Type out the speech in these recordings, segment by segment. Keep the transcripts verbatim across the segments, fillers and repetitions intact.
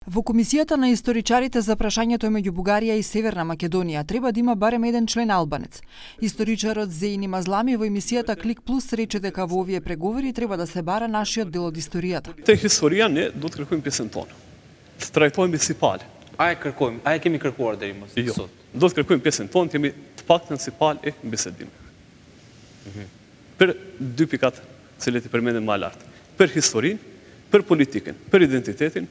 Во Комисијата на историчарите за прашањето меѓу Бугарија и Северна Македонија треба да има барем еден член албанец. Историчарот Зејни Мазлами во емисијата Клик Плюс рече дека во овие преговори треба да се бара нашиот дел од историјата. Те историја не do të kërkojmë pjesën tonë. Të trajtojmë si palë. A e kërkojmë, a e kemi kërkuar deri më sot. Jo, do të kërkojmë pjesën tonë, të jemi të paktën si palë e bisedim. Për dy pikat cilët i përmendëm më lart. Për historinë, për politikën, për identitetin,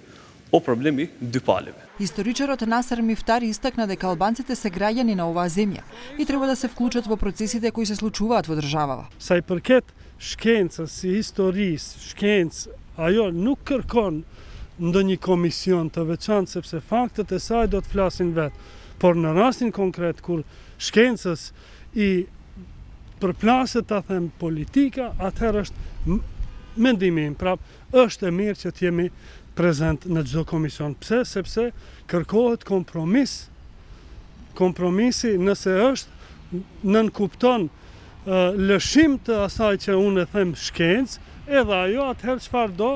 o problemi dy paleve. Историчарот Насер Мифтари истакна дека албанците се граѓани на оваа земја и треба да се вклучат во процесите кои се случуваат во државава. Sa i përket shkencës, si historisë, shkencë, ajo nuk kërkon ndonjë komision të veçantë sepse faktet e saj do të flasin vetë. Por në rastin konkret kur shkencës i përplaset ta them politika, atëherë është mendimi im, prap është e mirë që të jemi prezent në çdo komision. Pse? Sepse kërkohet kompromis. Kompromisi nëse është nënkupton uh, lëshim të asaj që unë e them shkencë, edhe ajo atëherë çfarë do,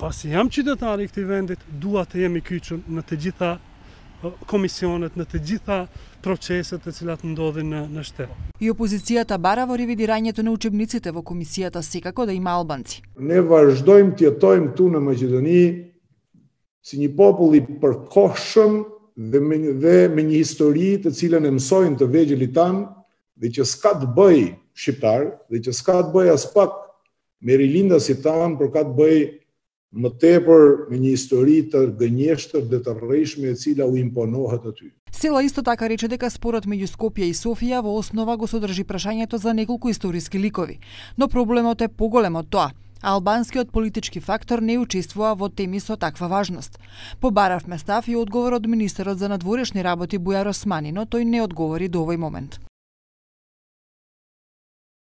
pasi jam qytetar i këtij vendit, dua të jemi kyçur në të gjitha uh, komisionet, në të gjitha proceset të cilat ndodhin në, në shtet. И опозицијата бара во ревидирањето на учебниците во комисијата секако да има албанци. Ne vazhdojmë të jetojmë këtu në Maqedoni si një popull i përkohshëm dhe me, dhe me një histori të cilën e mësojnë të vegjëlit tanë dhe që s'ka të bëj shqiptar dhe që s'ka të bëj as pak me rilindasit tanë, por ka të bëj më tepër me një histori të gënjeshtër dhe të rrejshme e cila u imponohet aty. Села исто така рече дека спорот меѓу Скопје и Софија во основа го содржи прашањето за неколку историски ликови, но проблемот е поголем од тоа. Албанскиот политички фактор не учествува во теми со таква важност. Побаравме став и одговор од министерот за надворешни работи Бујар Османи, но тој не одговори до овој момент.